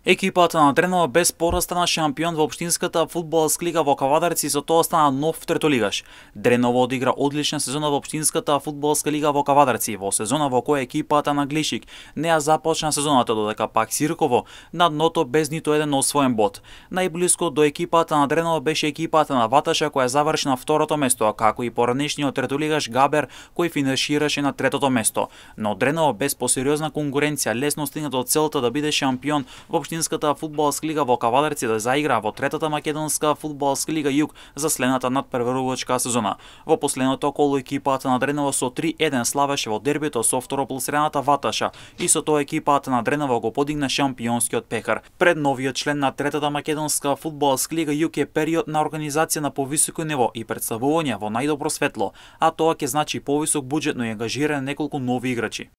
Екипата на Дренова без спора стана шампион во општинската фудбалска лига во Кавадарци и со тоа стана нов третолигаш. Дренова одигра одлична сезона во општинската фудбалска лига во Кавадарци, во сезона во која екипата на Глишик не ја започна сезоната, додека пак Сирково на дното без ниту еден освоен бод. Најблиско до екипата на Дренова беше екипата на Ваташа која заврши на второто место, како и поранешниот третолигаш Габер кој финишираше на третото место. Но Дренова без посериозна конкуренција лесно стигна до целта да биде шампион во општинската фудбалска лига во Кавадарци, да заигра во третата македонска фудбалска лига Југ за следната надпрварувачка сезона. Во последното коло екипата на Дренова со 3-1 славеше во дербито со второпласираната Ваташа и со тоа екипата на Дренова го подигна шампионскиот пехар. Пред новиот член на третата македонска фудбалска лига Југ е период на организација на повисоко ниво и представување во најдобро светло, а тоа ќе значи повисок буџет, но и ангажирање неколку нови играчи.